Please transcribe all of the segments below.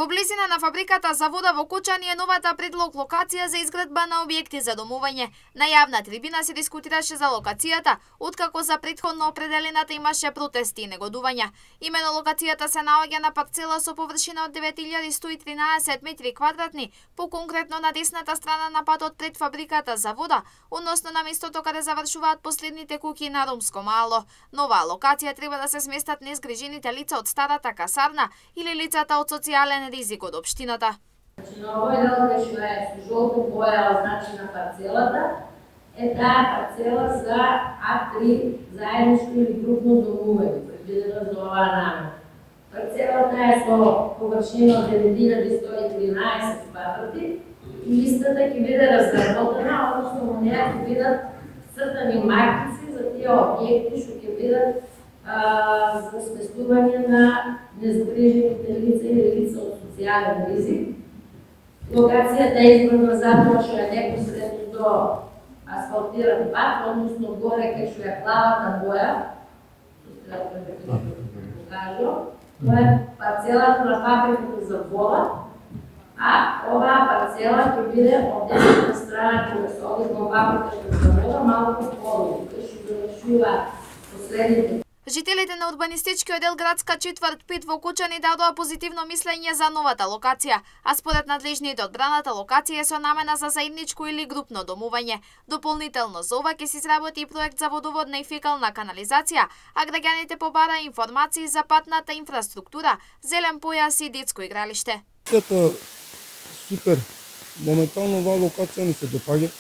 Во близина на фабриката за вода во Кочани е новата предлог локација за изградба на објекти за домување. На јавна трибина се дискутираше за локацијата, откако за претходно определената имаше протести и негодувања. Имено локацијата се наоѓа на парцела со површина од 9113 метри квадратни, поконкретно на десната страна на патот пред фабриката за вода, односно на местото каде завршуваат последните куќи на ромско мало. Нова локација треба да се сместат незгрижените лица од старата касарна или лицата од социјален ризик од општината. На овој дел кај што е со жолта боја означена парцелата, е таа парцела за А3 заедничко или групно домување, предвидено за оваа намена. Парцелата е со површина од 9113 квадрати и листата ќе биде разработена, односно во неја ќе бидат цртани маркици за тие објекти што ќе бидат за сместување на незгрижените лица или лица од социјален ризик. Локацијата е избрана затоа што е непосредно до асфалтиран пат, односно горе кај што е плавата боја, тоа е парцелата на фабриката за вода, а оваа парцела ќе биде од десната страна кога се оди во фабриката за вода, малку подолу, кај што завршува последните. Жителите на урбанистичкиот дел градска четврт 5 во Кочани дадоа позитивно мислење за новата локација, а според надлежните одбраната локација е со намена за заедничко или групно домување. Дополнително за ова ќе се изработи и проект за водоводна и фекална канализација, а граѓаните побараа информации за патната инфраструктура, зелен појас и детско игралиште. Супер. Моментално оваа локација ни се допаѓа.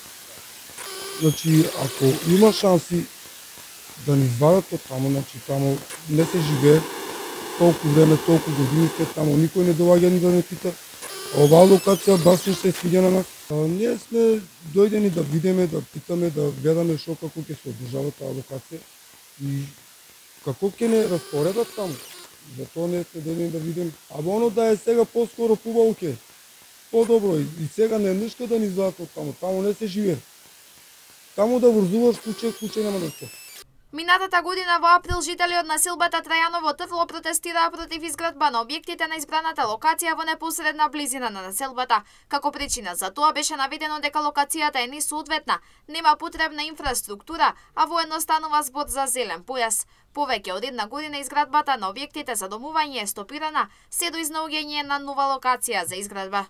Значи, ако има шанси да ни извадат од таму, значи таму не се живее толку време, толку години, таму никој не доаѓа ни да не пита. Оваа локација баш не се свиѓа на нас. Ние сме дојдени да видиме, да питаме, да гледаме шо како ќе се одржава таа локација и како ќе не распоредат таму. Затоа не сме дојдени да видиме. А оно да е сега поскоро побаво ќе. Подобро и сега не нешто да ни извадат од таму. Таму не се живее. Таму да врзуваш куќе нема да се. Минатата година во април жители од населбата Трајаново Трдло протестираа против изградба на објектите на избраната локација во непосредна близина на населбата. Како причина за тоа беше наведено дека локацијата е несоодветна, нема потребна инфраструктура, а воедно станува збор за зелен појас. Повеќе од една година изградбата на објектите за домување е стопирана се до изнаоѓање на нова локација за изградба.